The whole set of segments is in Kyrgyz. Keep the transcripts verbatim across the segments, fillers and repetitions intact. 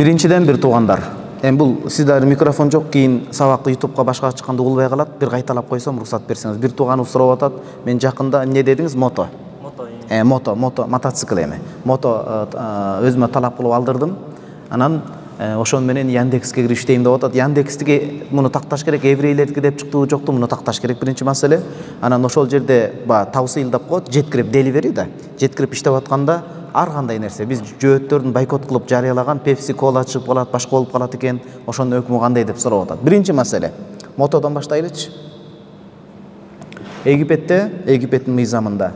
Биринчиден бир туугандар. Эми бул сиздер микрофон жок, кийин сабакты ютубка башка чыкканда угулбай калат. Бир кайталап койсом, уруксат берсеңиз. Бир тууганыбыз сурап атат. Мен жакында эмне дедиңиз? Мото. Мото. Э, мото, мото, мотоцикл эми. Мото өзүмө талап кылып алдырдым. Анан ошон менен Яндекске кирип иштейм деп атат. Яндекске муну такташ керек, еврейлердики деп чыктыбы жокту, муну такташ керек биринчи маселе. Анан ошол жерде ба тавсыйлдап коет, жеткирип деливери да. Жеткирип иштеп атканда ар кандай нерсе биз жөөттөрдүн бойкот кылып жарыялаган Pepsi Cola чыгып калат, башка болуп калат экен. Ошонун өкмү кандай деп сурап атат. Биринчи маселе. Мотодон баштайлычы. Египетте, Египеттин мыйзамында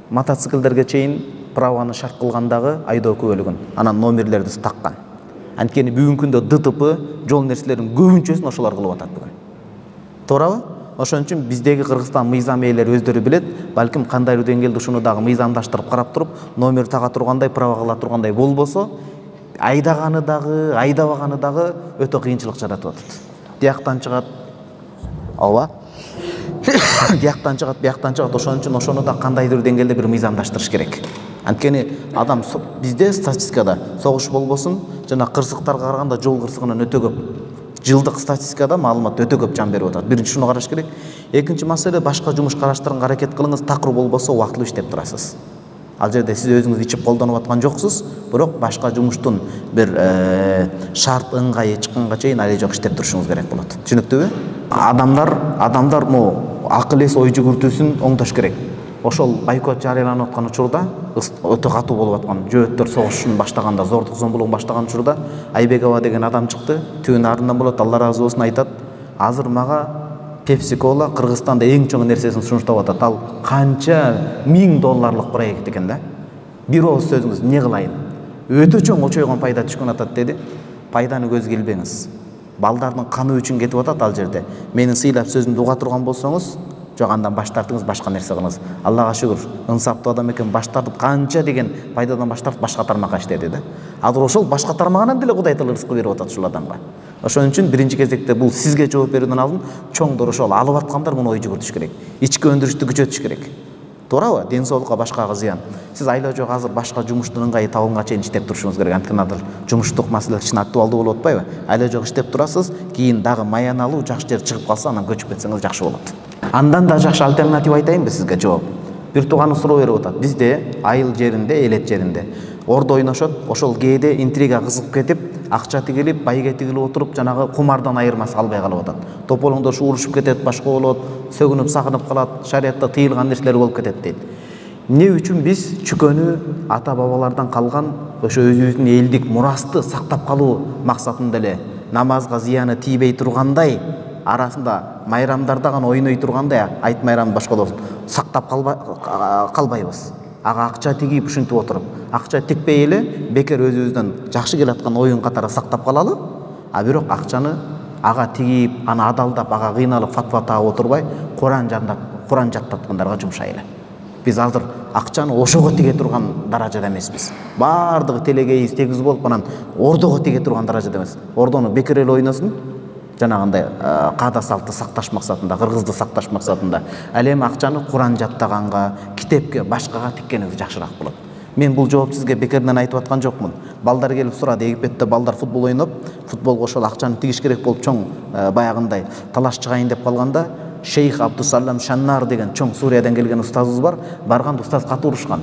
мотоциклдерге чейин праваны шарт кылгандагы айдоо күбөлүгүн, анан номерлерди таккан. Анткени бүгүнкү күндө ДТП, жол нерселеринин көбүнчөсүн ошолор кылып атат бүгүн. Туурабы? Ошон үчүн биздеги Кыргызстан мыйзам ээлери өздөрү билет, балким кандайдыр деңгээлде ушуну дагы мыйзамдаштырып карап туруп, номер тага тургандай, права кыла тургандай болбосо, айдаганы дагы, айдабаганы дагы өтө кыйынчылык жаратып атат. Тияктан чыгат. Ооба. Тияктан чыгат, бияктан чыгат. Ошон үчүн ошону да кандайдыр деңгээлде бир мыйзамдаштырыш керек. Анткени адам бизде статистикада согуш болбосун, жана кырсыктарга караганда жол кырсыгынан өтө көп. Жылдык статистикада маалымат өтө көп жан берип атат. Биринчи шуну караш керек. Экинчи маселе, башка жумуш караштырганга аракет кылыңыз, такыр болбосо убактылуу иштеп турасыз. Ал жерде сиз өзүңүз ичип колдонуп аткан жоксуз, бирок башка жумуштун бир шарт ыңгайы чыкканга чейин али жок иштеп турушуңуз керек болот. Түшүнүктүүбү? Адамдар, адамдар мо акыл эс ой жүгүртүүсүн оңдош керек. Ошол бойкот жарыяланып аткан учурда, өтө катуу болуп аткан жөөттөр согушун баштаганда, зордук зомбулугун баштаган учурда Айбекова деген адам чыкты. Түбүн арынан болот, Алла ыраазы болсун, айтат: "Азыр мага Pepsi Cola Кыргызстанда эң чоң нерсесин сунуштап атат. Ал канча миң долларлык проект экен да. Бир ооз сөзүңүз эмне кылайын? Өтө чоң очойгон пайда түшкөн атат" деди. Пайданы көзгө илбеңиз. Балдардын каны үчүн кетип атат ал жерде. Менин сыйлап сөзүмдү уга турган болсоңуз, жок, андан баш тартыңыз, башка нерсе кылыңыз. Аллага шүгүр, ынсаптуу адам экен, баш тартып канча деген пайдадан баш тартып башка тармакка иштеди да. Азыр ошол башка тармагынан деле Кудай Таала рызкы берип атат ушул адамга. Ошон үчүн биринчи кезекте бул сизге жооп берүүдөн алдын чоңдор ошол алып аткандар муну ой жүгүртүш керек. Ички өндүрүштү күчөтүш керек. Туурабы? Ден соолукка башкага зыян. Сиз айла жок азыр башка жумуштун ыңгайы табылганга чейин иштеп турушуңуз керек. Анткени азыр жумуштук маселе кичине актуалдуу болуп атпайбы? Айла жок иштеп турасыз, кийин дагы маяналуу жакшы жер чыгып калса, анан көчүп кетсеңиз жакшы болот. Андан да жакшы альтернатива айтайынбы сизге жооп? Бир тууганы суроо берип атат. Бизде айыл жеринде, элет жеринде ордо ойношот, ошол кээде интрига кызык кетип, акча тигилип, байге тигилип отуруп, жанагы кумардан айырмасы калбай калып атат. Тополоңдош урушуп кетет, башка болот, сөгүнүп сагынып калат, шариятта тыйылган нерселер болуп кетет дейт. Эмне үчүн биз чүкөнү ата бабалардан калган ошо өзүбүздүн элдик мурасты сактап калуу максатында эле намазга зыяны тийбей тургандай, арасында майрамдарда гана ойной тургандай, айт майрам башка болсун, сактап калбайбыз. Ага акча тигип ушинтип отуруп, акча тикпей эле бекер өзүбүздөн жакшы келаткан оюн катары сактап калалы, а бирок акчаны ага тигип, аны адалдап, ага кыйналып фатва таап отурбай, Куран жандап, Куран жаттаткандарга жумшайлы. Биз азыр акчаны ошого тиге турган даражада эмеспиз. Бардыгы телегейиз тегиз болуп, анан ордого тиге турган даражада эмес. Ордону бекер эле ойносун, жанагындай каада салтты сакташ максатында, кыргызды сакташ максатында. Ал эми акчаны Куран жаттаганга, китепке, башкага тиккениңиз жакшыраак болот. Мен бул жооп сизге бекерден айтып аткан жокмун. Балдар келип сурады, Египетте балдар футбол ойноп, футболго ошол акчаны тигиш керек болуп чоң баягындай талаш чыгайын деп калганда, Шейх Абдусалам Шаннар деген чоң Суриядан келген устазыбыз бар, барган устаз катуу урушкан.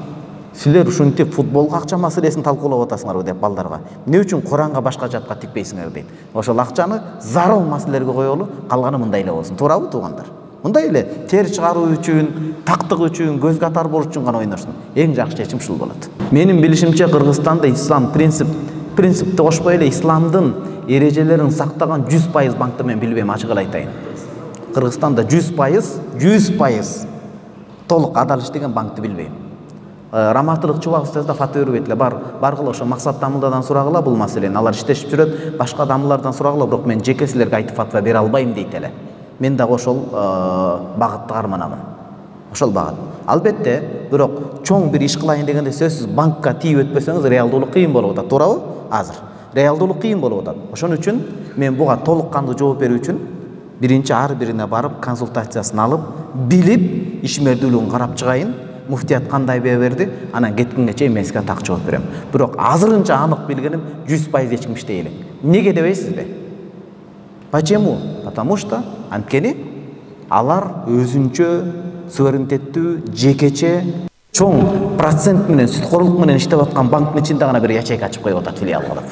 Силер ушинтип футболго акча маселесин талкуулап атасыңарбы деп балдарга. Эмне үчүн Куранга башка жатка тикпейсиңер дейт. Ошол акчаны зарыл маселелерге коелу, калганы мындай эле болсун. Туурабы туугандар? Мындай эле тер чыгаруу үчүн, тактык үчүн, көз катар болуш үчүн гана ойношсун. Эң жакшы чечим ушул болот. Менин билишимче Кыргызстанда ислам принцип принципти кошпой эле исламдын эрежелерин сактаган жүз пайыз банкты мен билбейм, ачык эле айтайын. Кыргызстанда жүз пайыз, жүз пайыз толук адал иштеген банкты билбейм. Раматылык чубак устазда фатва бербейт эле. Бар, баргыла ошо максат дамылдадан сурагыла бул маселени. Алар иштешип жүрөт, башка дамылдардан сурагыла, бирок мен жеке силерге айтып фатва бере албайм дейт эле. Мен дагы ошол багытты карманамын. Ошол багыт. Албетте, бирок чоң бир иш кылайын дегенде сөзсүз банкка тийип өтпөсөңүз реалдуулук кыйын болуп атат. Туурабы? Азыр реалдуулук кыйын болуп атат. Ошон үчүн мен буга толук кандуу жооп берүү үчүн биринчи ар бирине барып консультациясын алып, билип, ишмердүүлүгүн карап чыгайын. муфтият кандай бээ берди, анан кеткенге чейин мен сизге так жооп берем. Бирок азырынча анык билгеним жүз пайыз эч ким иштей элек. Неге дебейсизби? Почему? Потому что анткени алар өзүнчө суверенитеттүү, жекече, чоң процент менен сүткорлук менен иштеп аткан банктын ичинде гана бир ячейка ачып коюп атат, филиал кылып.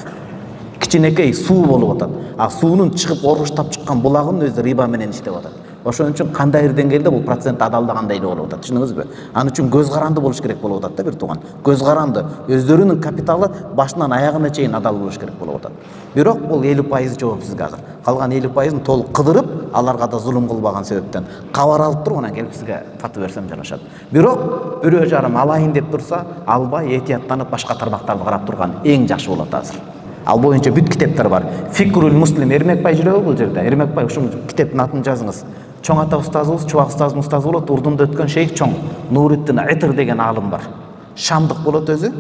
Кичинекей суу болуп атат. А суунун чыгып оруштап чыккан булагынын өзү риба менен иштеп атат. Ошон үчүн кандайдыр деңгээлде бул процент адалдагандай эле болуп атат. Түшүнүңүзбү? Ал үчүн көз каранды болуш керек болуп атат да бир тууган. Көз каранды. Өздөрүнүн капиталы башынан аягына чейин адал болуш керек болуп атат. Бирок бул элүү пайыз жоопсуз азыр. Калган элүү пайызын толук кыдырып, аларга да зулум кылбаган себептен кабар алып туруп анан келип сизге фатва берсем жарашат. Бирок бирөө жарым алайын деп турса, албай этияттанып башка тармактарды карап турган эң жакшы болот азыр. Ал боюнча бүт китептер бар. Фикрул Муслим Эрмекбай жүрөбү бул жерде? Эрмекбай ушул китептин атын жазыңыз. Чоң ата устазыбыз, Чубак устазыбыздын устазы болот, Урдунда өткөн шейх чоң. Нуриддин Итр деген аалым бар. Шамдык болот өзү.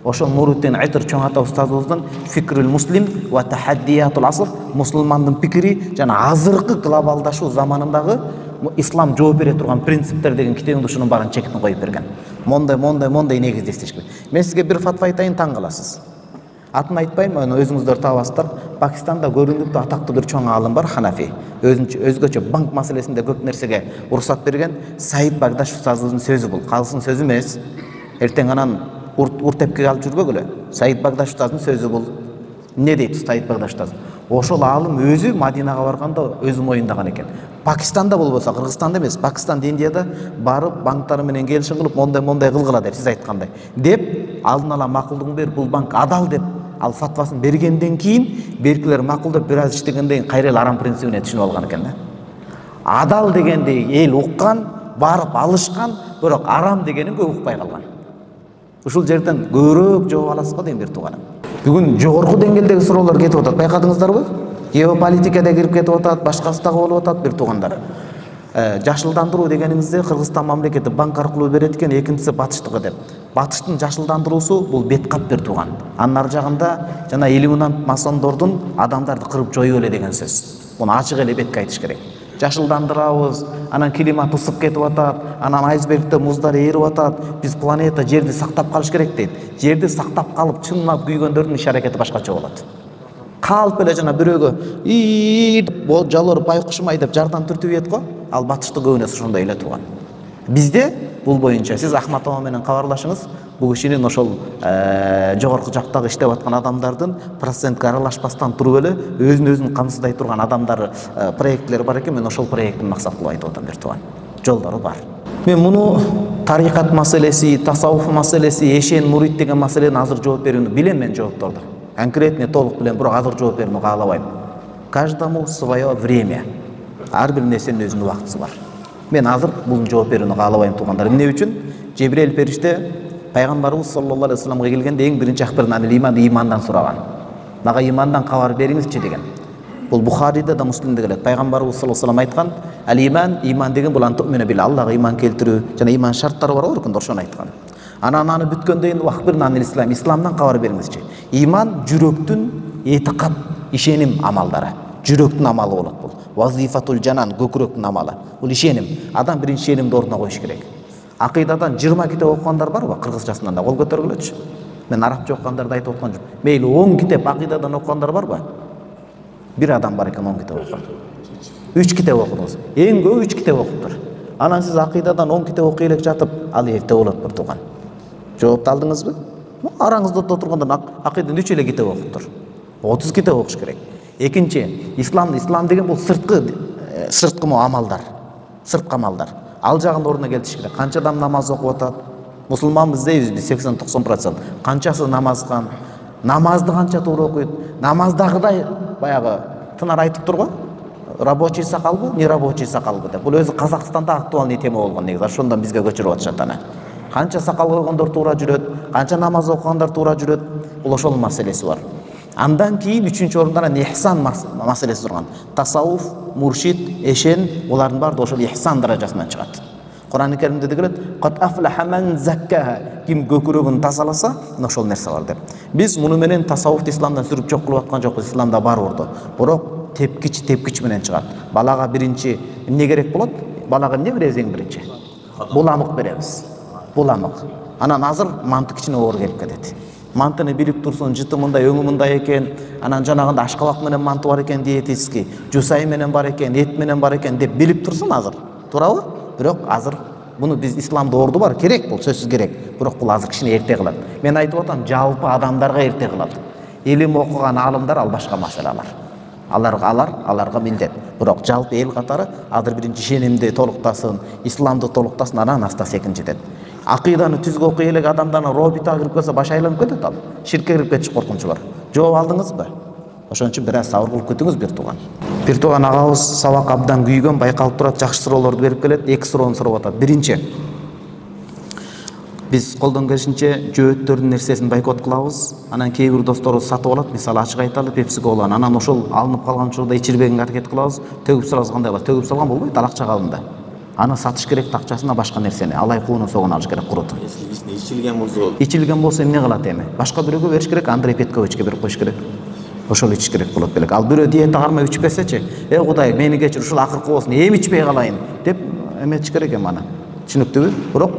Ошол Нуриддин Итр чоң ата устазыбыздын Фикрул Муслим ва Тахаддиятул Аср, мусулмандын пикири жана азыркы глобалдашуу заманындагы ислам жооп бере турган принциптер деген китебинде ушунун баарын чектин коюп берген. Мондай, мондай, мондай негизде иштеш керек. Мен сизге бир фатва айтайын, таң каласыз. Атын айтпайм, аны өзүңүздөр табасыздар. Пакистанда көрүнүктүү атактуу бир чоң аалым бар, Ханафи. Өзүнчө өзгөчө банк маселесинде көп нерсеге уруксат берген Саид Багдаш устазыбыздын сөзү бул. Калсын сөзү эмес. Эртең анан урт тепкиге алып жүрбөгүлө. Саид Багдаш устаздын сөзү бул. Эмне дейт Саид Багдаш устаз? Ошол аалым өзү Мадинага барганда өзү моюндаган экен. Пакистанда болбосо, Кыргызстанда эмес, Пакистанда, Индияда барып банктар менен келишим кылып, мондай мондай кылгыла деп сиз айткандай. Деп алдын ала макулдугун берип, бул банк адал деп ал фатвасын бергенден кийин беркилер макулдап бир аз иштегенден кийин кайра эле арам принцибине түшүнүп алган экен да. Адал дегенди эл уккан, барып алышкан, бирок арам дегенин көп укпай калган. Ушул жерден көбүрөөк жооп аласыз го дейм бир тууганым. Бүгүн жогорку деңгээлдеги суроолор кетип атат. Байкадыңыздарбы? Геополитикада кирип кетип атат, башкасы дагы болуп атат бир туугандар. Жашылдандыруу дегениңизде Кыргызстан мамлекети банк аркылуу берет экен, экинчиси батыштыкы деп. Батыштын жашылдандыруусу бул бет кап бир тууган. Анын ар жагында жана иллюминант масондордун адамдарды кырып жоюп эле деген сөз. Муну ачык эле бетке айтыш керек. Жашылдандырабыз, анан климат ысып кетип атат, анан айсбергде муздар ээрип атат, биз планета жерди сактап калыш керек дейт. Жерди сактап калып чынлап күйгөндөрдүн иш аракети башкача болот. Калп эле жана бирөөгө ии деп жалор байкушумай деп жардам түртүп ийет го, ал батышты көбүнөсү ошондой эле турган. Бизде бул боюнча сиз Ахматова менен кабарлашыңыз, бул кишинин ошол жогорку жактагы иштеп аткан адамдардын процентке аралашпастан туруп эле өзүн өзүн камсыздай турган адамдар проекттер бар экен. Мен ошол проекттин максат кылып айтып атам бир тууган. Жолдору бар. Мен муну тарикат маселеси, тасаввуф маселеси, эшен, мурид деген маселени азыр жооп берүүнү билем мен жоопторду. Конкретно толук билем, бирок азыр жооп берүүнү каалабайм. Каждому свое время. Ар бир нерсенин өзүнүн убактысы бар. Мен азыр бул жооп берүүнү каалабайм туугандар. Эмне үчүн? Жебрейил периште пайгамбарыбыз саллаллаху алейхи вассаламга келгенде эң биринчи акбардан анил иман, имандан сураган. Мага имандан кабар бериңизчи деген. Бул Бухариде да, Муслимде келет. Пайгамбарыбыз саллаллаху алейхи вассалам айткан, ал иман, иман деген бул антуъмина бил, Аллага иман келтирүү жана иман шарттары бар го, ошону айткан. Анан аны бүткөндөн кийин акбардан анил ислам, исламдан кабар бериңизчи. Иман жүрөктүн этикат, ишеним амалдары. Жүрөктүн амалы болот бул. Вазифатул жанан, көкүрөктүн амалы. Бул ишеним. Адам биринчи ишенимди ордуна коюш керек. Акыйдадан жыйырма китеп окугандар барбы? Кыргызчасынан да кол көтөргүлөчү. Мен арабча окугандарды айтып аткан жок. Мейли он китеп акыйдадан окугандар барбы? Бир адам бар экен он китеп окуган. үч китеп окудуңуз. Эң көп үч китеп окуптур. Анан сиз акыйдадан он китеп окуй элек жатып, ал эрте болот бир тууган. Жоопту алдыңызбы? Араңызда отургандан акыйдадан үч эле китеп окуптур. отуз китеп окуш керек. Экинчи, ислам, ислам деген бул сырткы, сырткы амалдар, сырткы амалдар. Ал жагында ордуна келтириш керек. Канча адам намаз окуп атат? Мусулманбыз дейбиз биз сексен токсон процент. Канчасы намазган? Намазды канча туура окуйт? Намаздагыдай баягы тынар айтыптыр го. Рабочий сакалбы, не рабочий сакалбы деп. Бул өзү Казакстанда актуальный тема болгон негизи. Ошондон бизге көчүрүп атышат аны. Канча сакал койгондор туура жүрөт, канча намаз окугандар туура жүрөт. Бул ошол маселеси бар. Андан кийин үчүнчү орунда ихсан маселеси турган. Тасаввуф, муршид, эшен, булардын баары ошол ихсан даражасынан чыгат. Кур'ан-ы Каримде келет: "Кат афлаха ман заккаха", ким көкүрөгүн тазаласа, ошол нерсе бар деп. Биз муну менен тасаввуфты исламдан сүрүп жок кылып аткан жокпуз, исламда бар орду. Бирок тепкич тепкич менен чыгат. Балага биринчи эмне керек болот? Балага эмне беребиз эң биринчи? Буламык беребиз. буламык. Анан азыр манты кичине оор келип кетет. Мантыны билип турсун, жыты мындай, өңү мындай экен, анан жанагында ашкабак менен манты бар экен диетический, жусай менен бар экен, эт менен бар экен деп билип турсун азыр. Туурабы? Бирок азыр буну биз исламда орду бар, керек бул, сөзсүз керек. Бирок бул азыр кичине эрте кылат. Мен айтып атам, жалпы адамдарга эрте кылат. Илим окуган алымдар ал башка маселалар. Аларга алар, аларга милдет. Бирок жалпы эл катары азыр биринчи ишенимди толуктасын, исламды толуктасын, анан аста секин жетет. Акыйданы түзгө окуй элек адамдарга робитага кирип келсе баш айланып кетет ал. Ширкке кирип кетиш коркунучу бар. Жооп алдыңызбы? Ошон үчүн бир аз сабыр кылып күтүңүз бир тууган. Бир тууган агабыз сабак абдан күйгөн, байкалып турат, жакшы суроолорду берип келет. Эки суроону сурап атат. Биринчи, биз колдон келишинче жөөттөрдүн нерсесин бойкот кылабыз. Анан кээ бир досторубуз сатып алат, мисалы ачык айталы, Pepsi Cola'ны. Анан ошол алынып калган учурда ичирбегенге аракет кылабыз. Төгүп салабыз, кандай болот? Төгүп салган болбойт, ал акча калында. Аны сатыш керек, акчасына башка нерсени, алай кууну согун алыш керек, курут. Ичилген болсо, ичилген болсо эмне кылат эми? Башка бирөөгө бериш керек, Андрей Петковичке берип коюш керек. Ошол ичиш керек болот белек. Ал бирөө диета кармай ичпесечи, "Эй Кудай, мени кечир, ушул акыркы болсун, эми ичпей калайын" деп эметиш керек эми аны. Түшүнүктүүбү? Бирок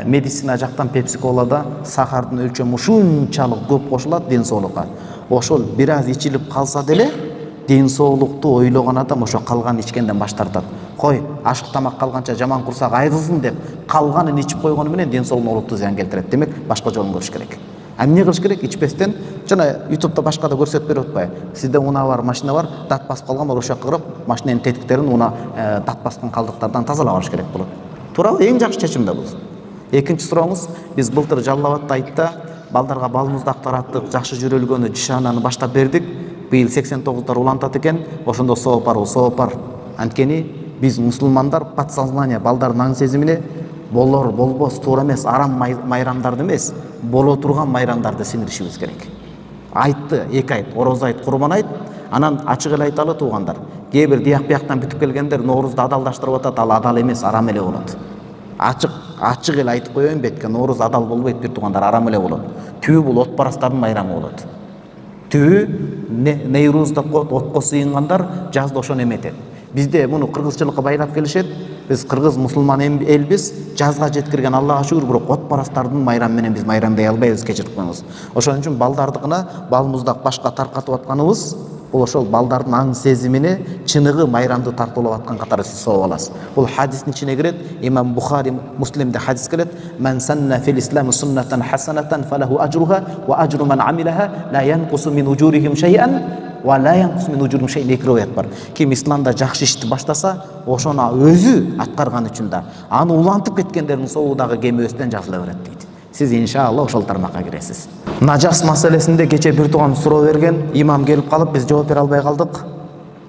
медицина жактан Pepsi Cola'да сахардын өлчөмү ушунчалык көп кошулат ден соолукка. Ошол бир аз ичилип калса деле ден соолукту ойлогон адам ошо калган ичкенден баш тартат. Кой, ашык тамак калганча жаман курсак айрылсын деп калганын ичип койгону менен ден соолугуна олуттуу зыян келтирет. Демек, башка жолун көрүш керек. А эмне кылыш керек? Ичпестен, жана YouTube'да башка да көрсөтүп берип атпайбы? Сизде унаа бар, машина бар, дат басып калган, ошо жакка кырып, машинанын тетиктерин унаа дат баскан калдыктардан тазалап алыш керек болот. Туурабы? Эң жакшы чечим да бул. Экинчи сурооңуз, биз былтыр Жалал Абадта айтта балдарга бал муздак тараттык, жакшы жүрөлгөнү, жишананы баштап бердик. Быйыл сексен тогуздар улантат экен, ошондо соопар, соопар. Анткени биз мусулмандар подсознание балдардын аң сезимине болор, болбос, туура эмес, арам майрамдарды эмес, боло турган майрамдарды сиңиришибиз керек. Айтты, эки айт, ороз айт, курман айт, анан ачык эле айталы туугандар. Кээ бир дияк бияктан бүтүп келгендер Ноорузду адалдаштырып атат, ал адал эмес, арам эле болот. Ачык, ачык эле айтып коеюн бетке, Нооруз адал болбойт бир туугандар, арам эле болот. Түбү бул от парастардын майрамы болот. Түбү Нейруз деп коет, отко сыйынгандар жазда ошону эметет. Бизде муну кыргызчылыкка байлап келишет. Биз кыргыз мусулман элбиз, жазга жеткирген Аллага шүгүр, бирок от парастардын майрамы менен биз майрамдай албайбыз, кечирип коюңуз. Ошон үчүн балдардыкына бал муздак башка таркатып атканыбыз бул ошол балдардын аң сезимине чыныгы майрамды тартуулап аткан катары сиз сооп аласыз. Бул хадистин ичине кирет. Имам Бухари, Муслимде хадис келет. Ман санна фил ислами суннатан хасанатан фалаху ажруха ва ажру ман амилаха ла янкусу мин уджурихим шай'ан ва ла янкусу мин уджурихим шай'ан. Эки риwayat бар. Ким исламда жакшы ишти баштаса, ошону өзү аткарган үчүн да, аны улантып кеткендердин соогу дагы кеме өстөн жазыла берет дейт. Сиз иншалла ошол тармакка киресиз. Нажас маселесинде кече бир тууган суроо берген, имам келип калып биз жооп бере албай калдык.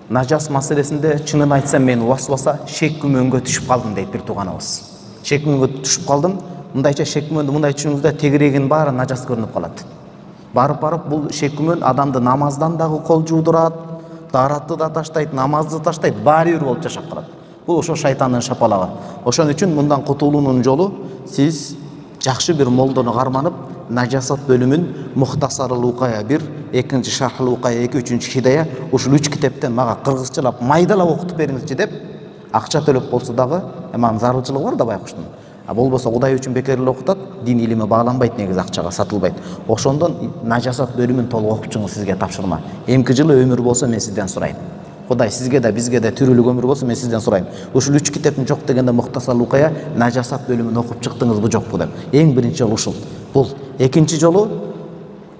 Нажас маселесинде чынын айтсам мен васваса шек күмөнгө түшүп калдым дейт бир тууганыбыз. Шек күмөнгө түшүп калдым. Мындайча шек күмөндү мындай түшүңүздө тегирегин баары нажас көрүнүп калат. Барып барып бул шек күмөн адамды намаздан дагы кол жуудурат, тааратты да таштайт, намазды таштайт, баары бир болуп жашап калат. Бул ошо шайтандын шапалагы. Ошон үчүн мындан кутулуунун жолу сиз жакшы бир молдону карманып, нажасат бөлүмүн Мухтасарул Укая бир, экинчи Шархул Укая эки, үчүнчү Хидая, ушул үч китептен мага кыргызчалап майдалап окутуп бериңизчи деп акча төлөп болсо дагы, эми зарылчылыгы бар да байкуштун. А болбосо Кудай үчүн бекер эле окутат, дин илими бааланбайт, негизи акчага сатылбайт. Ошондон нажасат бөлүмүн толук окуп чыгыңыз, сизге тапшырма. Эмки жылы өмүр болсо мен сизден сурайм. Кудай сизге да бизге да түрүлүк өмүр болсо мен сизден сурайм. Ушул үч китептин жок дегенде Мухтасарул Укая нажасат бөлүмүн окуп чыктыңызбы жокпу деп. Эң биринчи жолу ушул. Бул экинчи жолу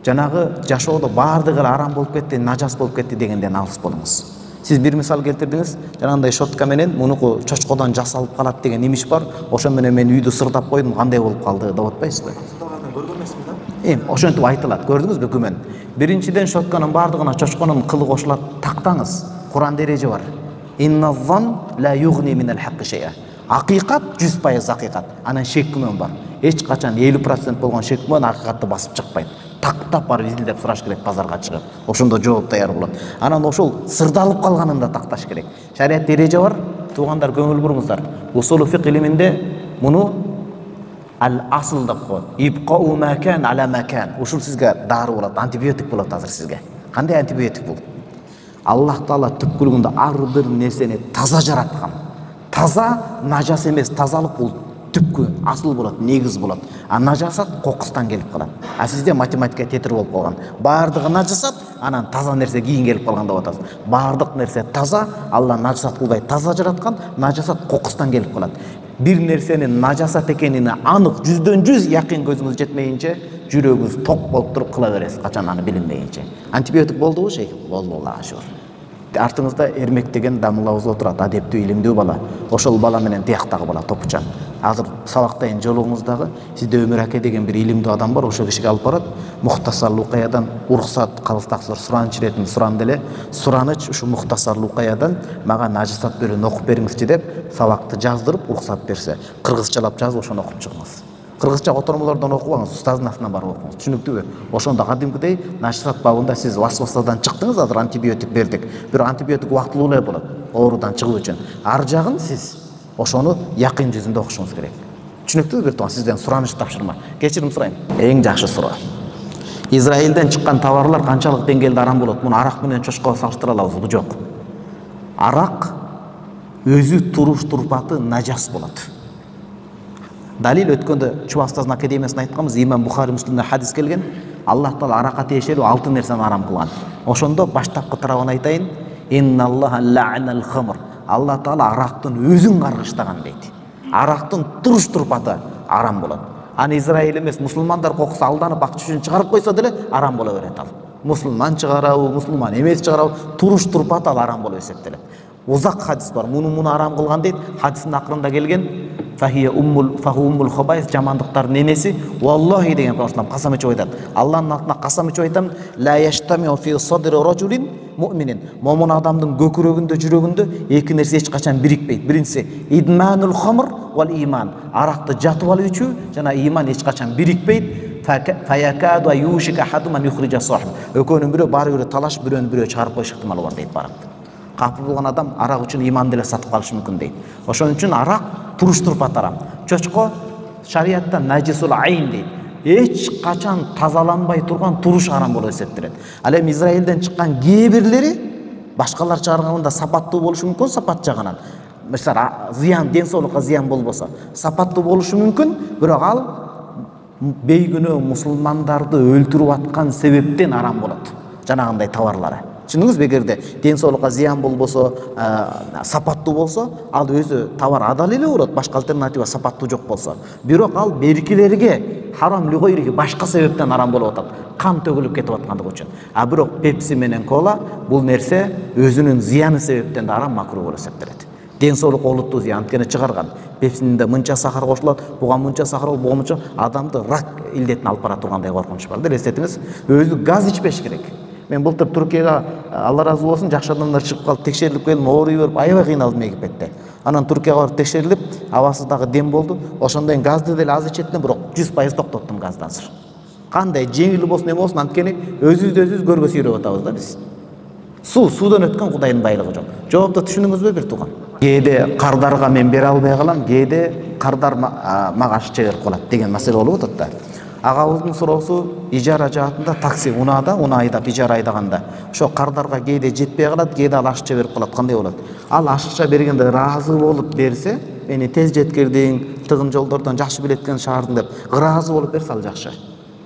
жанагы жашоодо баардыгы эле арам болуп кетти, нажас болуп кетти дегенден алыс болуңуз. Сиз бир мисал келтирдиңиз, жанагындай шотка менен мунуку чочкодон жасалып калат деген имиш бар. Ошо менен мен үйдү сырдап койдум, кандай болуп калды деп атпайсызбы? көргөн эмесмин да. Эм, ошентип айтылат. Көрдүңүзбү күмөн? Биринчиден шотканын баардыгына чочконун кылы кошулат, тактаңыз. Куран дереже бар. Инназзан ла югни минал хакки шай'a. Акыйкат жүз пайыз акыйкат. Анан шек күмөн бар. Эч качан элүү процент болгон шек күмөн акыйкатты басып чыкпайт. Тактап барып изилдеп сураш керек базарга чыгып. Ошондо жооп даяр болот. Анан ошол сырдалып калганын да такташ керек. Шарият дереже бар. Туугандар көңүл буруңуздар. Усулу фик илиминде муну ал-асл деп коет. Ибқау макан ала макан. Ушул сизге дары болот, антибиотик болот азыр сизге. Кандай антибиотик бул? Аллах Таала түпкүлүгүндө ар бир нерсени таза жараткан. Таза нажас эмес, тазалык бул түпкү асыл болот, негиз болот. А нажасат кокустан келип калат. А сизде математика тетир болуп калган. Баардыгы нажасат, анан таза нерсе кийин келип калган деп атасыз. Баардык нерсе таза, Алла нажасат кылбай таза жараткан, нажасат кокустан келип калат. Бир нерсенин нажасат экенине анык жүздөн жүз якын көзүңүз жетмейинче, жүрөгүңүз ток болуп туруп кыла бересиз, качан аны билинбейинче. Антибиотик болдубу шейх? Болду, Аллага шүгүр. Артыңызда Эрмек деген дамылабыз отурат, адептүү, илимдүү бала. Ошол бала менен тияктагы бала топучан. Азыр сабактайын жолуңуздагы сизде Өмүр аке деген бир илимдүү адам бар, ошол кишиге алып барат. Мухтасар Лукаядан уруксат калыстаксыр сураныч иретин суран эле. Сураныч ушу Мухтасар Лукаядан мага нажасат бөлүн окуп бериңизчи деп сабакты жаздырып уруксат берсе, кыргызчалап жазып ошону окуп чыгыңыз. Кыргызча котормолордон окубаңыз, устаздын астынан барып окуңуз. Түшүнүктүүбү? Ошондо кадимкидей нажасат бабында сиз васвасадан чыктыңыз, азыр антибиотик бердик. Бирок антибиотик убактылуу эле болот, оорудан чыгуу үчүн. Ар жагын сиз ошону якын жүзүндө окушуңуз керек. Түшүнүктүүбү? Бир тууган сизден сураныч тапшырма. Кечирим сурайм. Эң жакшы суроо. Израилден чыккан товарлар канчалык деңгээлде арам болот? Муну арак менен чочкого салыштыра алабызбы? Жок. Арак өзү туруш турпаты нажас болот. Далил өткөндө Чуба Устаздын академиясында айтканбыз, имам Бухари Муслимде хадис келген. Аллах Таала аракка тиешелүү алты нерсени арам кылган. Ошондо баштапкы тарабын айтайын. Инналлаха ла'анал хамр. Алла Таала арактын өзүн каргыштаган дейт. Арактын туруш турпаты арам болот. Аны Израиль эмес, мусулмандар кокусу алданып акча үчүн чыгарып койсо деле арам боло берет ал. Мусулман чыгарабы, мусулман эмес чыгарабы, туруш турпаты ал арам болуп эсептелет. Узак хадис бар. Муну муну арам кылган дейт. Хадистин акырында келген фахия уммул фаху уммул хабайс, жамандыктардын энеси. Валлахи деген Пайгамбар касам ичип айтат. Алланын атына касам ичип айтам. Ла яштамиу фи садри раджулин муъминин. Момун адамдын көкүрөгүндө, жүрөгүндө эки нерсе эч качан бирикпейт. Биринчиси идманул хамр вал иман. Аракты жатып алып ичүү жана иман эч качан бирикпейт. Фаякаду юшика хадуман юхриджа сахиб. Экөөнүн бирөө бары бирөө талашып, бирөөнүн бирөө чыгарып коюш ыктымалы бар дейт барак. Капыл болгон адам арак үчүн иман деле сатып калышы мүмкүн дейт. Ошон үчүн арак туруш турпат арам. Чочко шариатта najisul ayn дейт. Эч качан тазаланбай турган туруш арам болуп эсептелет. Ал эми Израилден чыккан кээ бирлери башкалар чыгарганда сапаттуу болушу мүмкүн, сапат жагынан. Мисалы, зыян, ден соолукка зыян болбосо, сапаттуу болушу мүмкүн, бирок ал бейгүнөө мусулмандарды өлтүрүп аткан себептен арам болот. Жанагындай товарлары. Түшүндүңүзбү? Эгерде ден соолукка зыян болбосо, сапаттуу болсо, ал өзү товар адал эле болот, башка альтернатива сапаттуу жок болсо. Бирок ал беркилерге харам лугойриги башка себептен арам болуп атат. Кан төгүлүп кетип аткандыгы үчүн. А бирок пепси менен кола бул нерсе өзүнүн зыяны себептен да арам, макруh болуп эсептелет. Ден соолукка олуттуу зыян анткени чыгарган. Пепсинин да мынча сахар кошулат, буга мынча сахар, буга мынча, адамды рак илдетине алып бара тургандай коркунуч бар. Элестетиңиз, өзү газ ичпеш керек. Мен былтыр Түркияга, Алла разы болсун, жакшы адамдар чыгып калып текшерилип келдим, ооруй берип, аябай кыйналдым Египетте. Анан Түркияга барып текшерилип, абасы дагы дем болду. Ошондой газды деле аз ичет элем, бирок жүз пайыз токтоттум газды азыр. Кандай жеңил болсун, эме болсун, анткени өзүбүздү өзүбүз көргө сүйрөп атабыз да биз. Суу, суудан өткөн Кудайдын байлыгы жок. Жоопты түшүндүңүзбү бир тууган? Кээде кардарга мен бере албай калам, кээде кардар мага ашыкча берип калат деген маселе болуп атат да. Агабыздын суроосу ижара жаатында такси унаада, унаа айдап ижара айдаганда ошо кардарга кээде жетпей калат, кээде ал ашыкча берип калат. Кандай болот? Ал ашыкча бергенде ыраазы болуп берсе, мени тез жеткирдиң, тыгын жолдордон жакшы билеткен шаардын деп ыраазы болуп берсе ал жакшы.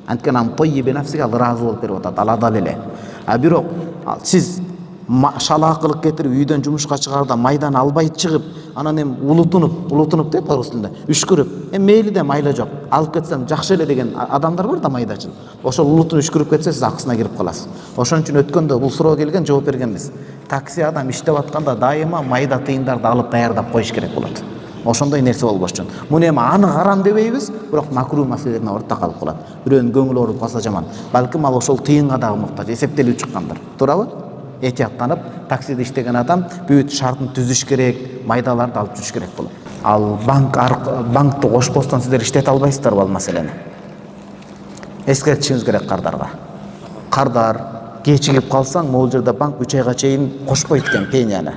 Анткени ам тойибе нафсиге ал ыраазы болуп берип атат, ал адал эле. А бирок сиз шалаакылык кетирип үйдөн жумушка чыгаарда майдан албай чыгып, анан эми улутунуп, улутунуп дейт орус тилинде, үшкүрүп, эми мейли да майла жок, алып кетсем жакшы эле деген адамдар бар да майдачыл. Ошол улутун үшкүрүп кетсе сиз акысына кирип каласыз. Ошон үчүн өткөндө бул суроо келген, жооп бергенбиз. Такси адам иштеп атканда дайыма майда тыйындарды алып даярдап коюш керек болот. Ошондой нерсе болбош үчүн. Муну эми аны харам дебейбиз, бирок макруh маселелерине орто калып калат. Бирөөнүн көңүлү ооруп калса жаман. Балким ал ошол тыйынга дагы муктаж, эсептелип чыккандыр. Туурабы? Этияттанып, таксиде иштеген адам бүт шартын түзүш керек, майдаларды алып жүрүш керек болот. Ал банк банкты кошпостон сиздер иштете албайсыздарбы ал маселени? Эскертишиңиз керек кардарга. Кардар кечигип калсаң, могул жерде банк үч айга чейин кошпойт экен пенияны.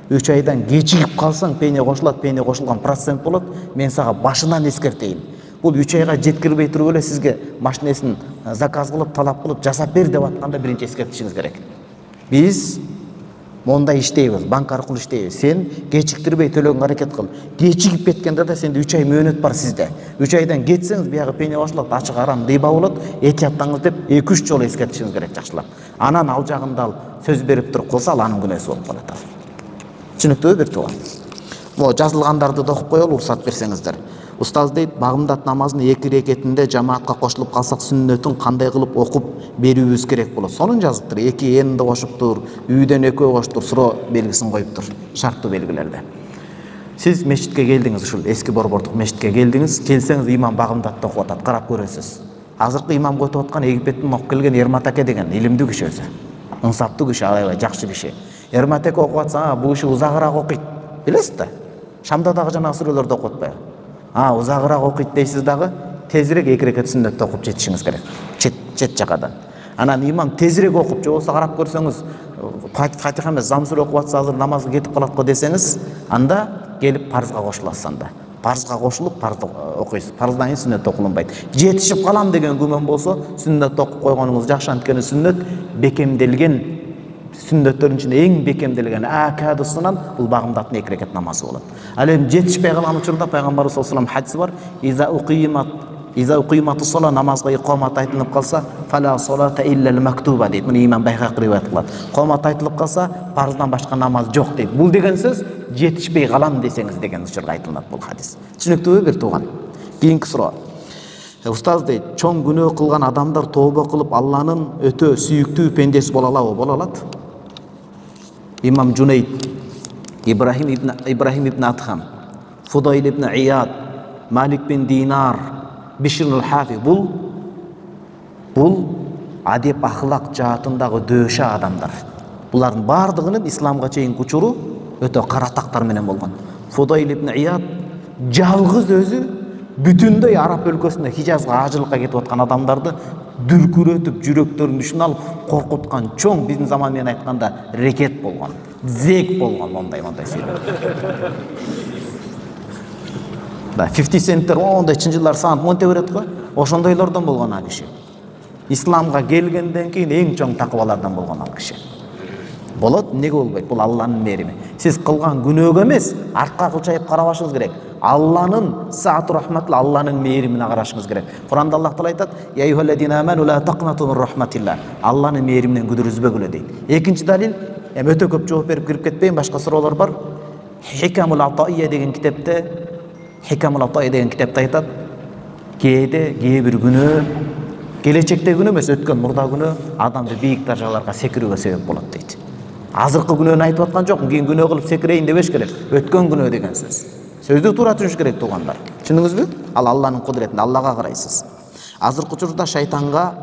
үч айдан кечигип калсаң, пения кошулат, пения кошулган процент болот. Мен сага башынан эскертейин. Бул үч айга жеткирбей туруп эле сизге машинесин заказ кылып, талап кылып, жасап бер деп атканда биринчи эскертишиңиз керек. Биз мондай иштейбиз, банк аркылуу иштейбиз, сен кечиктирбей төлөгөнгө аракет кыл. Кечигип кеткенде да сенде үч ай мөөнөт бар сизде. үч айдан кетсеңиз биягы пене башылат, ачык арам рыба болот, этияттаңыз деп эки үч жолу эскертишиңиз керек жакшылап. Анан ал жагында ал сөз берип туруп калса, ал анын күнөөсү болуп калат. Түшүнүктүүбү бир тууган? Могу жазылгандарды да окуп коелу, уруксат берсеңиздер. Устаз дейт, багымдат намазын эки рекетинде жамаатка кошулуп калсак сүннөтүн кандай кылып окуп берүүбүз керек болот? Сонун жазыптыр. эки энди кошуптур, үйдөн экөө коштур, суроо белгисин коюптур, шарттуу белгилерде. Сиз мешитке келдиңиз, ушул эски борбордук мешитке келдиңиз, келсеңиз имам багымдатты окуп атат, карап көрөсүз. Азыркы имамга өтүп аткан Египеттен окуп келген Эрмат аке деген илимдүү киши өзү. Ынсаптуу киши, аябай жакшы киши. Эрмат аке окуп атса, бул киши узагыраак окуйт. Билесиз да? Шамда дагы жана сүрөлөрдү окуп атпайбы? А, узагыраак окуйт дейсиз дагы, тезирээк эки рекет сүннөттү окуп жетишиңиз керек. Чет чет жакадан. Анан имам тезирээк окуп, же болбосо карап көрсөңүз, Фатиха эмес, зам сүрө окуп атса, азыр намазга кетип калат го десеңиз, анда келип парызга кошуласыз анда. Парызга кошулуп, парызды окуйсуз. Парыздан кийин сүннөт окулунбайт. Жетишип калам деген күмөн болсо, сүннөт окуп койгонуңуз жакшы, анткени сүннөт бекемделген сүннөттөрдүн ичинде эң бекемделген акадысынан бул багымдаттын эки рекет намазы болот. Ал эми жетишпей калган учурда пайгамбарыбыз саллаллаху алейхи хадиси бар. Иза уқимат иза уқиматус сала, намазга икомат айтылып калса, фала салата илля мактуба дейт. Муну имам Байхақи риваят кылат. Комат айтылып калса, парыздан башка намаз жок дейт. Бул деген сөз жетишпей калам десеңиз деген учурда айтылат бул хадис. Түшүнүктүүбү бир тууган? Кийинки суроо. Устаз дейт, чоң күнөө кылган адамдар тобо кылып Алланын өтө сүйүктүү пендеси боло алабы? Боло алат. Имам Джунейд, Ибрахим ибн Ибрахим ибн Атхам, Фудайл ибн Ияд, Малик бин Динар, Бишр аль-Хафи, бул бул адеп ахлак жаатындагы дөшө адамдар. Булардын бардыгынын исламга чейинки учуру өтө каратактар менен болгон. Фудайл ибн Ияд жалгыз өзү бүтүндөй Араб өлкөсүндө Хижазга ажылыкка кетип аткан адамдарды дүркүрөтүп, жүрөктөрүн düşүн алып, коркуткан чоң, биздин заман менен айтканда, рекет болгон, зек болгон, мондай мондай сөйлөп. Да, пятьдесят центтер ондойчу жылдар санап монте берет го. Ошондойлордон болгон ал киши. Исламга келгенден кийин эң чоң такыбалардан болгон ал киши. Болот, эмнеге болбойт? Бул Алланын мээрими. Сиз кылган күнөөгө эмес, артка кылчайып карабашыңыз керек. Алланын саат рахматыл, Алланын мээримине карашыңыз керек. Куранда Аллах Таала айтат: "Я айюхаллазина аману ла тaqnatu min rahmatillah." Алланын мээриминен күдүр үзбөгүлө дейт. Экинчи далил, эми өтө көп жооп берип кирип кетпейин, башка суроолор бар. Хикамул Атаия деген китепте, Хикамул Атаия деген китепте айтат: "Кээде кээ бир күнөө, келечекте күнөө эмес, өткөн мурда күнөө адамды бийик даражаларга секирүүгө себеп болот" дейт. Азыркы күнөөнү айтып аткан жокмун, кийин күнөө кылып секирейин дебеш керек. Өткөн күнөө деген сөз. Сөздү туура түшүнүш керек туугандар. Түшүндүңүзбү? Ал Алланын кудуретинде, Аллага карайсыз. Азыркы учурда шайтанга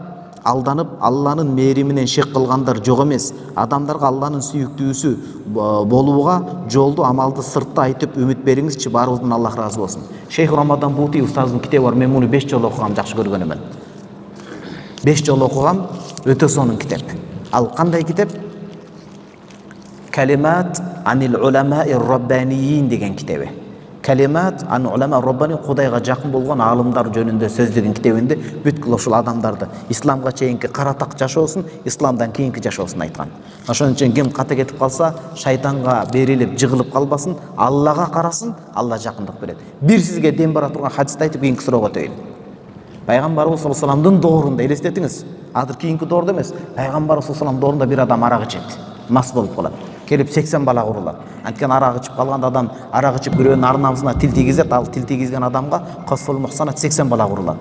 алданып, Алланын мээриминен шек кылгандар жок эмес. Адамдарга Алланын сүйүктүүсү болууга жолду, амалды сыртта айтып үмүт бериңизчи, баарыбыздан Аллах разы болсун. Шейх Рамадан Бути устаздын китеби бар, мен муну беш жолу окугам, жакшы көргөнүмөн. беш жолу окугам, өтө сонун китеп. Ал кандай китеп? Калимат анил уламаи раббаниин деген китеби. Калимат ан улама раббани, Кудайга жакын болгон аалымдар жөнүндө сөз деген китебинде бүткүл ушул адамдарды исламга чейинки каратак жашоосун, исламдан кийинки жашоосун айткан. Ошон үчүн ким кате кетип калса, шайтанга берилип, жыгылып калбасын, Аллага карасын, Алла жакындык берет. Бир сизге дем бара турган хадисти айтып кийинки суроого өтөйүн. Пайгамбарыбыз саллаллаху алейхи вассаламдын доорунда, элестетиңиз, азыр кийинки доордо эмес, Пайгамбарыбыз саллаллаху алейхи вассаламдын доорунда бир адам арак ичет, мас болуп калат. Келип сексен бала урулат. Анткени арак ичип калган адам, арак ичип бирөөнүн арнамысына тил тийгизет, ал тил тийгизген адамга косфул мухсанат сексен бала урулат.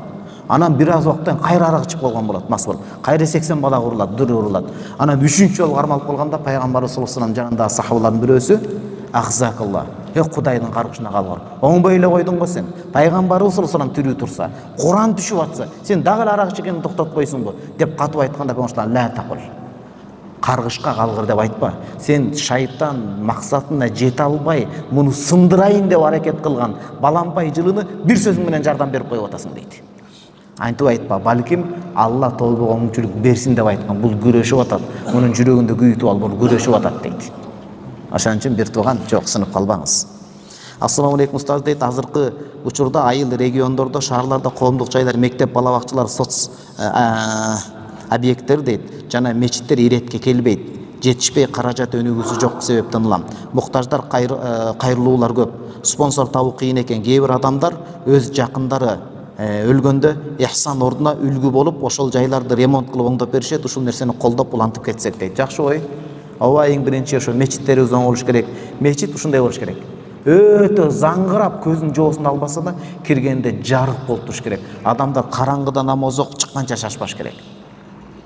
Анан бир аз убакыттан кайра арак ичип калган болот, мас болуп. Кайра сексен бала урулат, дур урулат. Анан үчүнчү жолу кармалып калганда Пайгамбарыбыз саллаллаху алейхи вассалам жанындагы сахабалардын бирөөсү: "Ахзакалла, э Кудайдын каргышына калгыр. Оңбой эле койдуң го сен. Пайгамбарыбыз саллаллаху алейхи вассалам тирүү турса, Куран түшүп атса, сен дагы арак ичкенди токтотпойсуңбу?" деп катып айтканда Пайгамбар ла тaqul. Каргышка калгыр деп айтпа. Сен шайтан максатына жете албай, муну сындырайын деп аракет кылган балампай жылыны бир сөзүң менен жардам берип коюп атасың дейт. Антип айтпа, балким Алла тобуга оңчулук берсин деп айткан. Бул күрөшүп атат. Мунун жүрөгүндө күйүтүп ал, бул күрөшүп атат дейт. Ошон үчүн бир тууган жок, сынып калбаңыз. Ассаламу алейкум устаз дейт, азыркы учурда айыл региондордо, шаарларда коомдук жайлар, мектеп, балабакчалар, соц объекттер дейт, жана мечиттер иретке келбейт. жетишпей каражат өнүгүүсү жок себептен улам. Муктаждар кайрылуулар көп. Спонсор табуу кыйын экен. Кээ бир адамдар өз жакындары өлгөндө ихсан ордуна үлгү болуп, ошол жайларды ремонт кылып оңдоп беришет. Ушул нерсени колдоп улантып кетсек дейт. Жакшы ой. Ооба, эң биринчи ошо мечиттерибиз оң болуш керек. Мечит ушундай болуш керек. Өтө заңгырап, көзүнүн жоосун албаса да, киргенде жарык болуп туруш керек. Адамдар караңгыда намаз окуп чыкканча шашпаш керек.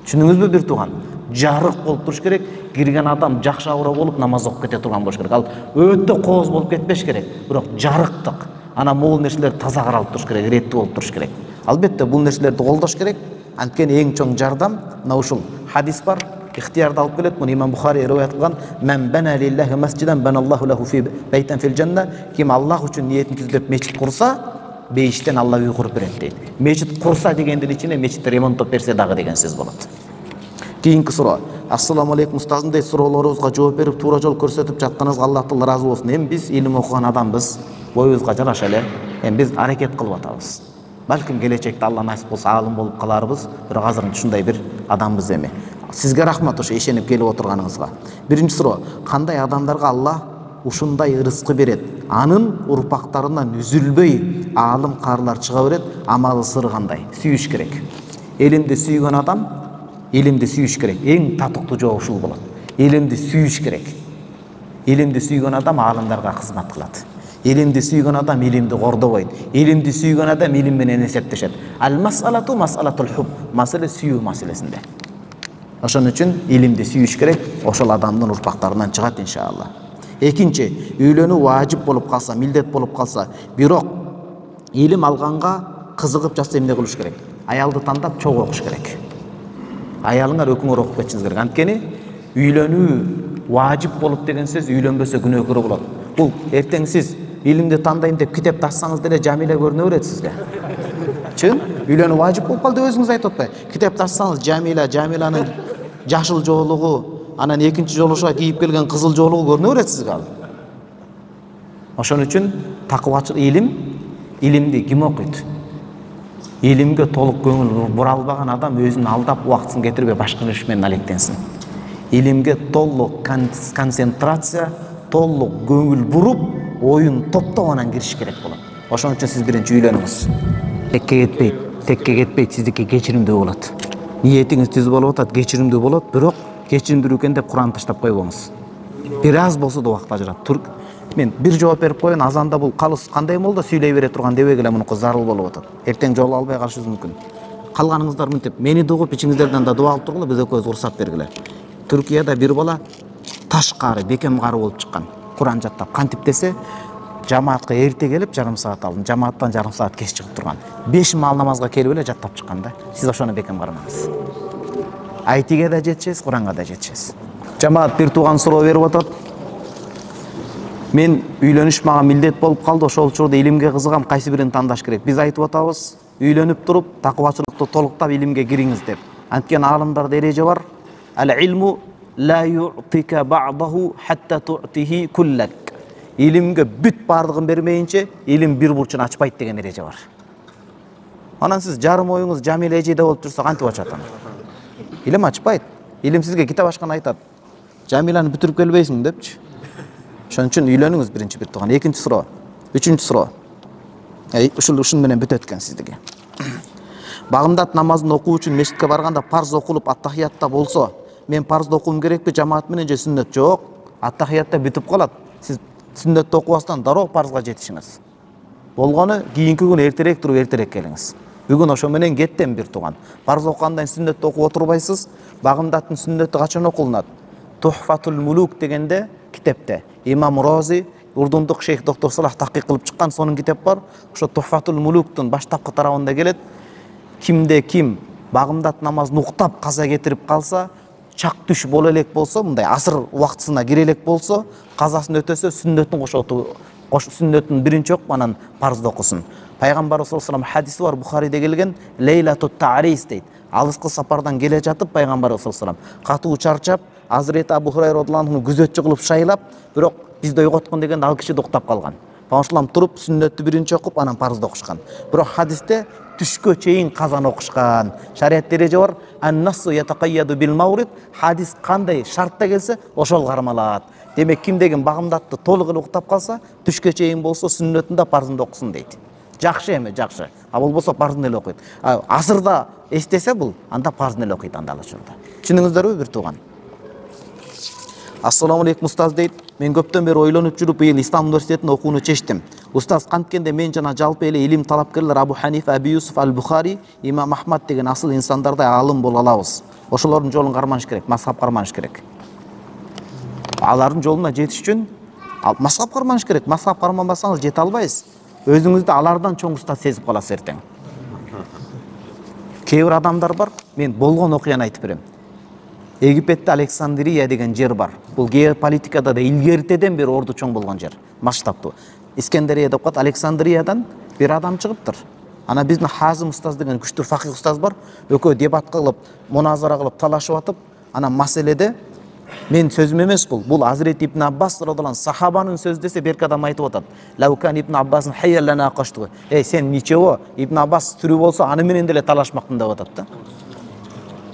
Түшүнүңүзбү бир тууган? Жарык болуп туруш керек. Кирген адам жакшы аура болуп намаз окуп кете турган болуш керек. Ал өтө кооз болуп кетпеш керек. Бирок жарыктык. Ана могул нерселер таза каралып туруш керек, реттүү болуп туруш керек. Албетте бул нерселерди колдош керек. Анткени эң чоң жардам мына ушул хадис бар. Ихтиярды алып келет. Муну Имам Бухари риваят кылган: "Мен бана лиллахи масжидан баналлаху лаху фи байтан фил жанна." Ким Аллах үчүн ниетин түздөп мечит курса, бейиштен Алла үй куруп берет дейт. Мечит курса дегендин ичине мечитти ремонттоп берсе дагы деген сөз болот. Кийинки суроо. Ассаламу алейкум устазым дейт, суроолорубузга жооп берип, туура жол көрсөтүп жатканыңызга Аллах Таала ыраазы болсун. Эми биз илим окуган адамбыз, боюбузга жараша эле. Эми биз аракет кылып атабыз. Балким келечекте Алла насип кылса алым болуп каларбыз, бирок азыр ушундай бир адамбыз эми. Сизге рахмат ошо ишенип келип отурганыңызга. Биринчи суроо. Кандай адамдарга Алла ушундай ырыскы берет? Анын урпактарынан үзүлбөй аалым карлар чыга берет. Амалы сыры кандай? Сүйүш керек. Элимди сүйгөн адам илимди сүйүш керек. Эң татыктуу жоо ушул болот. Илимди сүйүш керек. Илимди сүйгөн адам аалымдарга кызмат кылат. Илимди сүйгөн адам илимди кордобойт. Илимди сүйгөн адам илим менен эсептешет. Ал-мас'алату мас'алатул хуб. Маселе сүйүү маселесинде. Ошон үчүн илимди сүйүш керек. Ошол адамдын урпактарынан чыгат иншалла. Экинчи, үйлөнүү важип болуп калса, милдет болуп калса, бирок илим алганга кызыгып жатса эмне кылыш керек? Аялды тандап чогуу окуш керек. Аялыңар өкүңөр окуп кетишиңиз керек. Анткени үйлөнүү важип болуп деген сөз үйлөнбөсө күнөөкөрө болот. Бул эртең сиз илимди тандайм деп китепти ачсаңыз деле Жамиле көрүнө берет сизге. Чын? Үйлөнүү важип болуп калды деп өзүңүз айтып атпайбы? Китепти ачсаңыз Жамила, Жамиланын жашыл жоолугу, анан экинчи жолушуга кийип келген кызыл жоолугу көрүнө берет сизге ал. Ошон үчүн такыбачыл илим, илимди ким окуйт? Илимге толук көңүл бура албаган адам өзүн алдап убактысын кетирбей башка иш менен алектенсин. Илимге толук концентрация, толук көңүл буруп, оюн топтоп анан кириш керек болот. Ошон үчүн сиз биринчи үйлөнүңүз. Текке кетпейт, текке кетпейт, сиздики кечиримдүү болот. Ниетиңиз түз болуп атат, кечиримдүү болот, бирок кечиримдүү экен деп Куранды таштап койбоңуз. Бир аз болсо да убакыт ажырат. Тур. Мен бир жооп берип коеюн, азанда бул калыс кандай молда сүйлөй бере турган дебеги эле мунуку зарыл болуп атат. Эртең жол албай калышыбыз мүмкүн. Калганыңыздар мынтип мени дугуп, ичиңиздерден да дуа алып тургула, биз экөөбүз уруксат бергиле. Түркияда бир бала таш кары, бекем кары болуп чыккан. Куран жаттап, кантип десе, жамаатка эрте келип жарым саат алдын, жамааттан жарым саат кеч чыгып турган. беш маал намазга келип эле жаттап чыккан да. Сиз ошону бекем карамаңыз. Айтиге да жетишесиз, Куранга да жетишесиз. Жамаат бир тууган суроо берип атат. Мен үйлөнүш мага милдет болуп калды, ошол учурда илимге кызыгам, кайсы бирин тандаш керек? Биз айтып атабыз, үйлөнүп туруп, такыбачылыкты толуктап илимге кириңиз деп. Анткени аалымдарда эреже бар. Ал-илму ла ю'тика бa'dahu hatta tu'tihi kullak. Илимге бүт бардыгын бермейинче, илим бир бурчун ачпайт деген эреже бар. Анан сиз жарым оюңуз Жамиле эжеде болуп турса кантип ачат аны? Илим ачпайт. Илим сизге китеп ачкан айтат. Жамиланы бүтүрүп келбейсиң депчи. Ошон үчүн үйлөнүңүз биринчи бир тууган. Экинчи суроо. Үчүнчү суроо. Эй, ушул ушун менен бүтөт экен сиздике. Багымдат намазын окуу үчүн мешитке барганда парз окулуп аттахиятта болсо, мен парзды окуум керекпи, жамаат менен же сүннөт? Жок. Аттахиятта бүтүп калат. Сиз сүннөттү окубастан дароо парзга жетишиңиз. Болгону кийинки күнү эртерээк туруп эртерээк келиңиз. Бүгүн ошо менен кеттем бир тууган. Парз окугандан сүннөттү окуп отурбайсыз. Багымдаттын сүннөтү качан окулунат? Тухфатул мулук дегенде китепте Имам Рози, урдундук шейх доктор Салах такыйк кылып чыккан сонун китеп бар. Ошо Тухфатул мулуктун баштапкы тарабында келет. Кимде ким багымдат намазын уктап каза кетирип калса, чак түш боло элек болсо, мындай асыр убактысына кире элек болсо, казасын өтөсө сүннөтүн кошоту, кош сүннөтүн биринчи окуп анан парзды окусын. Пайгамбарыбыз саллаллаху алейхи вассалам хадиси бар, Бухариде келген, Лейлатут Та'рис дейт. Алыскы сапардан келе жатып Пайгамбарыбыз саллаллаху алейхи вассалам катуу чарчап, Азирети Абу Хурайра радыйаллаху анху күзөтчү кылып шайлап, бирок бизди ойготкон дегенде ал киши доктап калган. Паушалам туруп сүннөттү биринчи окуп, анан парзды окушкан. Бирок хадисте түшкө чейин казан окушкан. Шарият эреже бар. Ан-нассу ятакайяду бил маврид. Хадис кандай шартта келсе, ошол кармалат. Демек кимдеген багымдатты толук эле уктап калса, түшкө чейин болсо сүннөтүндө парзында окусын дейт. Жакшы эми, жакшы. А болбосо парзын эле окуйт. Азырда эстесе бул, анда парзын эле окуйт анда алачурда. Түшүнүңүздөрбү бир тууган? Ассаламу алейкум устаз дейт. Мен көптөн бери ойлонуп жүрүп, быйыл Ислам университетинде окууну чечтим. Устаз, канткенде мен жана жалпы эле илим талапкерлер Абу Ханифа, Аби Юсуф аль-Бухари, Имам Ахмад деген асыл инсандардай алым боло алабыз. Ошолордун жолун карманыш керек, мазхаб карманыш керек. Алардын жолуна жетиш үчүн мазхаб карманыш керек. Мазхаб карманбасаңыз жете албайсыз. Өзүңүздү алардан чоң устаз сезип каласыз эртең. Кээ бир адамдар бар, мен болгон окуяны айтып берем. Египетте Александрия деген жер бар. Бул геополитикада да илгертеден бери орду чоң болгон жер, масштабтуу. Искендерия деп коет. Александриядан бир адам чыгыптыр. Ана биздин Хазым устаз деген күчтүү факих устаз бар. Экөө дебат кылып, муназара кылып, талашып атып, ана маселеде мен сөзүм эмес бул. Бул Азирет Ибн Аббас радыйаллаху анху сахабанын сөзү десе берки адам айтып атат. Лаукан Ибн Аббасын хайяллана каштыгы. Эй, сен ничего, Ибн Аббас тирүү болсо аны менен деле талашмакмын деп атат да.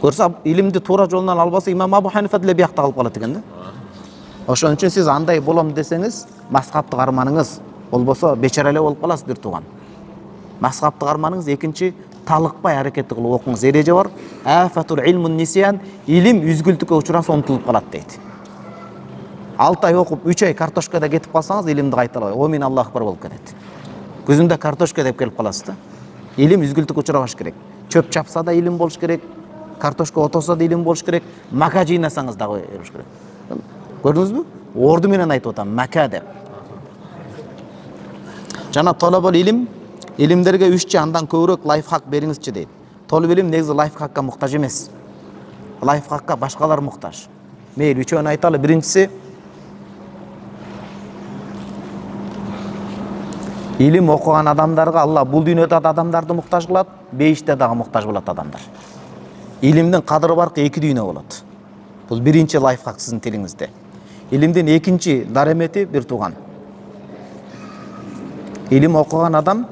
Көрсө илимди туура жолунан албаса Имам Абу Ханифа деле биякта калып калат экен да. Ошон үчүн сиз андай болом десеңиз, мазхабты карманыңыз, болбосо бечара эле болуп каласыз бир тууган. Мазхабты карманыңыз, экинчи талыкпай аракет кылып окуңуз. Эреже бар. Афатул илмун нисян, илим үзгүлтүккө учураса унутулуп калат дейт. алты ай окуп, үч ай картошкада кетип калсаңыз, илимди кайта албай, о мен Аллах акбар болуп кетет. Көзүмдө картошка деп келип каласыз да. Илим үзгүлтүккө учурабаш керек. Чөп чапса да илим болуш керек. Картошка отоса да илим болуш керек. Мака жыйнасаңыз дагы болуш керек. Көрдүңүзбү? Орду менен айтып атам, мака деп. Жана талабал илим, илимдерге үччү андан көбүрөөк лайфхак бериңизчи дейт. Толуп илим негизи лайфхакка муктаж эмес. Лайфхакка башкалар муктаж. Мейли үчөөнү айталы. Биринчиси, илим окуган адамдарга Алла бул дүйнөдө да адамдарды муктаж кылат, бейиште дагы муктаж болот адамдар. Илимдин кадыры баркы эки дүйнө болот. Бул биринчи лайфхак сиздин тилиңизде. Илимдин экинчи даремети бир тууган. Илим окуган адам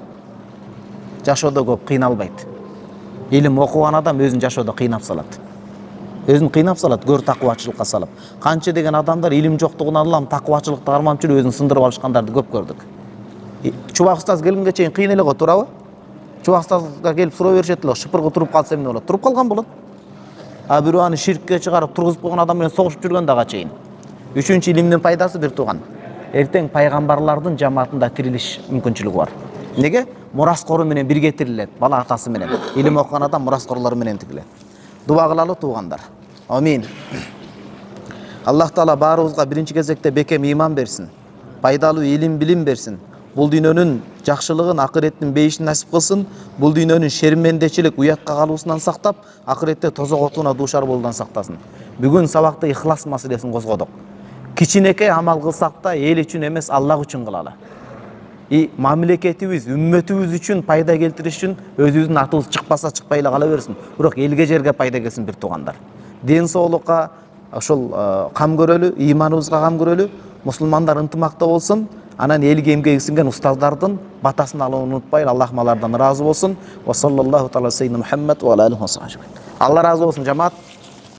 жашоодо көп кыйналбайт. Илим окуган адам өзүн жашоодо кыйнап салат. Өзүн кыйнап салат, көр такыбачылыкка салып. Канча деген адамдар илим жоктугунан Аллам такыбачылыкты карманып жүрүп өзүн сындырып алышкандарды көп көрдүк. Чубак устаз келгенге чейин кыйын эле го, туурабы? Чубак устазга келип суроо беришет эле, шыпыргы туруп калса эмне болот? Туруп калган болот. А бирөө аны ширкке чыгарып тургузуп койгон адам менен согушуп жүргөн дагы чейин. Үчүнчү илимдин пайдасы бир тууган. Эртең пайгамбарлардын жамаатында тирилиш мүмкүнчүлүгү бар. Неге? Мураскору менен бирге тирилет, бала атасы менен. Илим окуган адам мураскорлору менен тирилет. Дуба кылалы туугандар. Амин. Аллах Таала баарыбызга биринчи кезекте бекем иман берсин. Пайдалуу илим билим берсин. Бул дүйнөнүн жакшылыгын, акыреттин бейишин насип кылсын. Бул дүйнөнүн шермендечилик, уятка калуусунан сактап, акыретте тозок отуна дуушар болуудан сактасын. Бүгүн сабакта ихлас маселесин козгодук. Кичинекей амал кылсак да эл үчүн эмес, Аллах үчүн кылалы. И мамлекетибиз, үммөтүбүз үчүн пайда келтириш үчүн өзүбүздүн атыбыз чыкпаса чыкпай эле кала берсин. Бирок элге жерге пайда келсин бир туугандар. Ден соолукка ошол кам көрөлү, иманыбызга кам көрөлү, мусулмандар ынтымакта болсун. Анан элге эмгеги сиңген устаздардын батасын алууну унутпайлы. Аллах алардан ыраазы болсун. Ва саллаллаху тааала саййидина Мухаммад ва алейхи ва сахбиhi. Алла ыраазы болсун, жамаат.